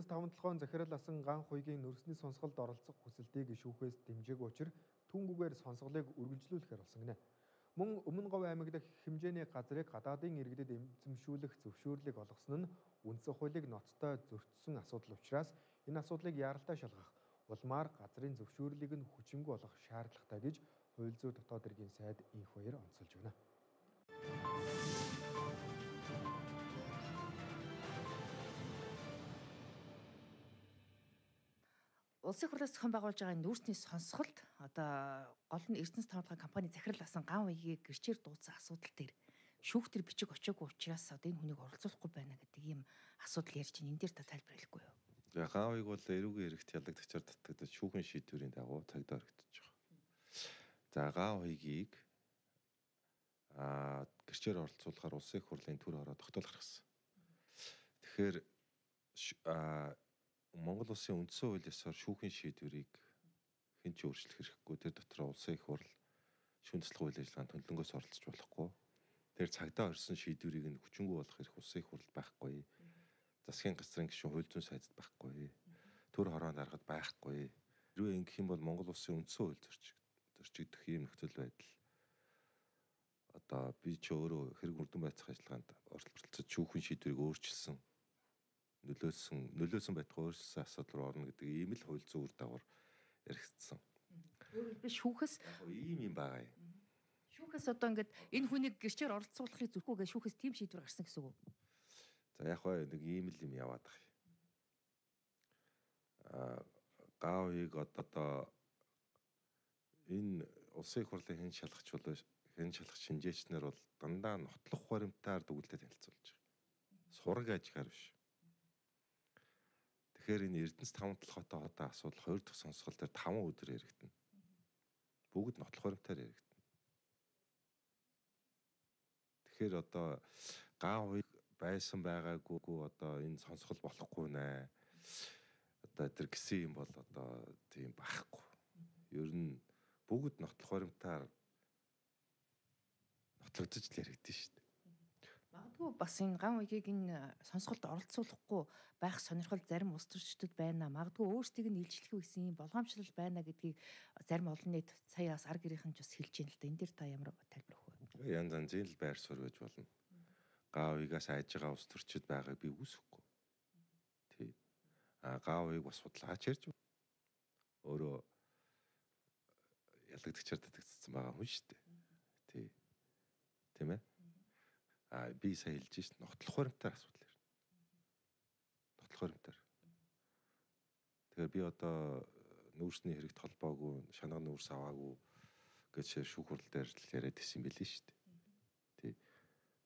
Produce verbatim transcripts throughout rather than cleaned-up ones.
таван толгойн захирал асан Ган хуйгийн нөрсний сонсголд оролцох хүсэлтийг шүүхээс дэмжээгүй учраас түнгүүгээр сонсголыг үргэлжлүүлэхээр болсон гинэ. Мөн Өмнө Говь аймаг дахь хэмжээний газрыг гадаадын иргэдэд эзэмшүүлэх зөвшөөрлийг олгосон нь үндсэн хуулийг ноцтой зөрчсөн асуудал учраас энэ асуудлыг яаралтай шалгах улмаар газрын зөвшөөрлийг нь хүчингүй болгох шаардлагатай гэж хууль зүйн дотоод хэргийн сайд инх хоёр онцолж байна. Улсын хурлаас зохион байгуулж байгаа нүүрсний сонсголт одоо гол нь Эрдэнэс таван толгойн компани захирал асан Ган хуйгийг гэрчээр дуудсан асуудал дээр шүүх төр бичиг очоогүй учраас одоо энэ хүнийг оролцуулахгүй байна гэдэг ийм асуудал ярьж байна. Энэ дээр та тайлбар хэлэхгүй юу? За Ган хуйг бол эрүүгийн хэрэгт ялагдагчаар татагдаж шүүхэн шийдвэрийн дагуу цагдаа орогдож байгаа. За Ган хуйгийг а гэрчээр оролцуулахаар улсын хурлын төр хороо тогтоол гаргасан. Тэгэхээр а Монгол улсын үндсэн хууль ёсоор шүүхийн шийдвэрийг хэн ч өөрчлөх хэрэггүй. Тэр дотор улсын их хурл шүүн туслах үйл ажиллагаанд хөндлөнгөөс оролцож болохгүй. Тэр цагдаа орсон шийдвэрийг нь хүчингүй болгох хэрэг улсын их хурл байхгүй. Засгийн газрын гишүүн хууль зүйн сайдд байхгүй. Төр хороонд аргад байхгүй. Хэрвээ ингэх юм бол Монгол улсын үндсэн хууль зорчиг зорчигдох ийм нөхцөл байдал одоо би ч өөрөө хэрэг үрдэн байцах ажиллагаанд оролцож шүүхийн шийдвэрийг өөрчилсөн нөлөөсөн нөлөөсөн байтугай өөрчлөсөн асуудал руу орно гэдэг ийм л хууль зүйн үр дагавар яригдсан. Өөрөөр хэлбэл шүүхээс Яг ийм юм байгаа юм. Шүүхээс одоо ингээд энэ хүнийг гэрчээр оролцуулахыг зүрхгүйгээ шүүхээс тийм шийдвэр гарсан гэсэн үг. За яг хоо нэг ийм л юм яваад байгаа юм. Аа Ган хуйг одоо энэ улсын хурлын хэн шалгах чулуу хэн шалгах шинжээчнэр бол дандаа нотлох баримтаар дүгнэлтэд танилцуулж байгаа. Сураг ажгаар биш. Тэгэхээр энэ Эрдэнэс таван толгойтой хотоо асуудал хоёр дахь сонсгол дээр таван өдөр яригдана. Бүгд нотлох баримтаар яригдана. Тэгэхээр одоо Ган хуйг байсан байгаагүй одоо энэ сонсгол болохгүй нэ. Одоо тэр гисэн юм бол одоо тийм байхгүй. Ер нь бүгд нотлох баримтаар нотлогдож л яригдэн шүү дээ. Магадгүй бас энэ Ган хуйгийг энэ сонсголд оролцуулахгүй байх сонирхол зарим улс төрчдөд байна. Магадгүй өөрсдийг нь илчлэх гэсэн юм болгоомжлол байна гэдгийг зарим олон нийт сая бас ар гэрийнхэн ч бас хэлж байна л да. Энэ дээр та ямар тайлбар өгөх вэ? Янз янзын л байр суурь байж болно. Ган хуйгаас айж байгаа улс төрчид байгааг би үүсэхгүй. Тий. А Ган хуйг бас судлаач ярьж өөрөө ялагдагчаар татагдсан байгаа хүн шүү дээ. Тий. Тийм ээ. А би сая хэлж шít нотлох баримтаар асуудал ярина. Нотлох баримтаар. Тэгэхээр би одоо нүүрсний хэрэгт холбоогүй, шанаа нүүрс аваагүй гэж шүүх хурал дээр л яриад ирсэн юм билээ шүү дээ. Тий.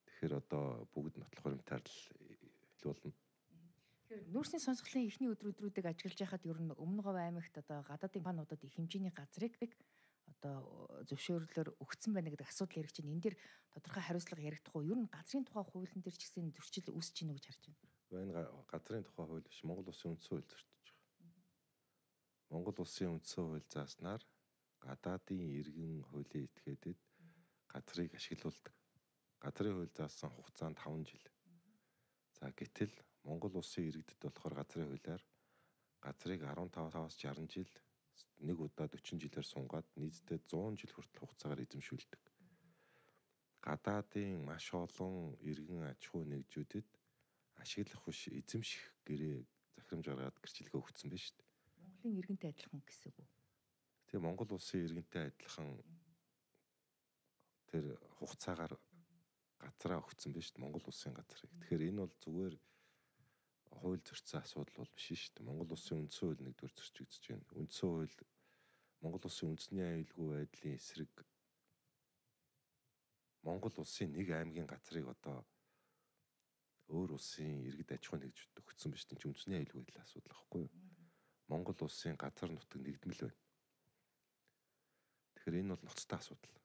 Тэгэхээр одоо бүгд нотлох баримтаар л хэлүүлнэ. Тэгэхээр нүүрсний сонсголын эхний өдрүүдрүүдийг ажиглаж байхад ер нь Өмнө Говь аймагт одоо гадаадын компаниудад их хэмжээний газрыг одоо зөвшөөрлөөр өгсөн байна гэдэг асуудал яригч байна. Энэ дэр тодорхой хариуцлага яригдах уу? Ер нь газрын тухай хуулийн дээр ч гэсэн зөрчил үүсэж гинэ гэж харж байна. Энэ газрын тухай хууль биш, Монгол улсын үндсэн хууль зорчиж байгаа. Монгол улсын үндсэн хууль зааснаар гадаадын иргэн хуулийн этгээдэд газрыг ашиглуулдаг. Газрын хууль заасан хугацаа нь таван жил. За гэтэл Монгол улсын иргэдэд болохоор газрын хуулиар газрыг арван таваас шарсан жил нэг удаа дөрвөн жилээр сунгаад нийтдээ зуун жил хүртэл хугацаагаар эзэмшүүлдэг. Гадаадын маш олон иргэн аж ахуй нэгжүүдэд ашиглах биш эзэмших гэрээ захирамж гаргаад гэрчлэгээ өгсөн байна шүү дээ. Монголын иргэнтэй адилхан гэсэн үг үү? Тэгээ Монгол улсын иргэнтэй адилхан тэр хугацаагаар газраа өгсөн байна шүү дээ. Монгол улсын газрыг. Тэгэхээр энэ бол зүгээр хууль зөрчсөн асуудал бол биш шүү дээ. Монгол улсын үндсэн хууль нэгдүгээр зөрчигдэж байна. Үндсэн хууль Монгол улсын үндэсний аюулгүй байдлын эсрэг Монгол улсын нэг аймгийн газрыг одоо өөр улсын иргэд аж ахуй нэгжүүд өгсөн биш тийм ч үндэсний аюулгүй байдлын асуудал байхгүй юу? Монгол улсын газар нутаг нэгдмэл байна. Тэгэхээр энэ бол ноцтой асуудал.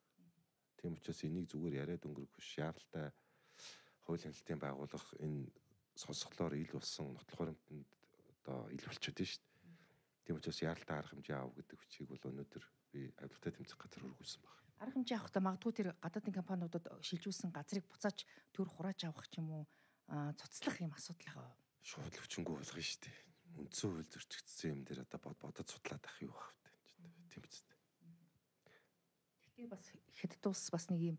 Тийм учраас энийг зүгээр яриад өнгөрөх биш. Яаралтай хууль хяналтын байгууллага энэ сонсголоор ил болсон нотлох баримтанд одоо ил болчиход байна шүү дээ. Тийм учраас яаралтай арга хэмжээ аав гэдэг хүчийг бол өнөөдөр би авилгатай тэмцэх газар хөргүүлсэн байна. Арга хэмжээ авахдаа магадгүй тэр гадаадын компаниудад шилжүүлсэн газрыг буцааж төр хурааж авах ч юм уу цуцлах юм асуудал байгаа. Шууд л хүчингүй болгоно шүү дээ. Үндсэн хууль зөрчигдсөн юм дээр одоо бодож судлаад ах юу байх вэ? Тийм биз дээ. Гэхдээ бас хятад улс бас нэг юм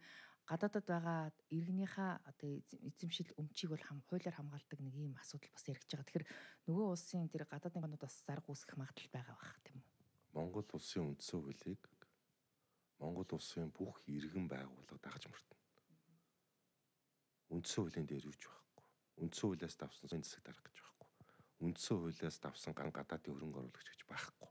гадаадад байгаа иргэнийхээ одоо эзэмшил өмчийг бол хам хуулиар хамгаалдаг нэг юм асуудал бас яригдж байгаа. Тэгэхээр нөгөө улсын тэр гадаадын банууд бас зарга үүсгэх магадлал байгаа бах тийм үү? Монгол улсын үндсэн хуулийг Монгол улсын бүх иргэн байгууллага дагаж мартна. Үндсэн хуулийн дээр юуч байхгүй. Үндсэн хуулиас давсан засаг дарах гэж байхгүй. Үндсэн хуулиас давсан ган гадаадын хөрөнгө оруулагч гэж байхгүй.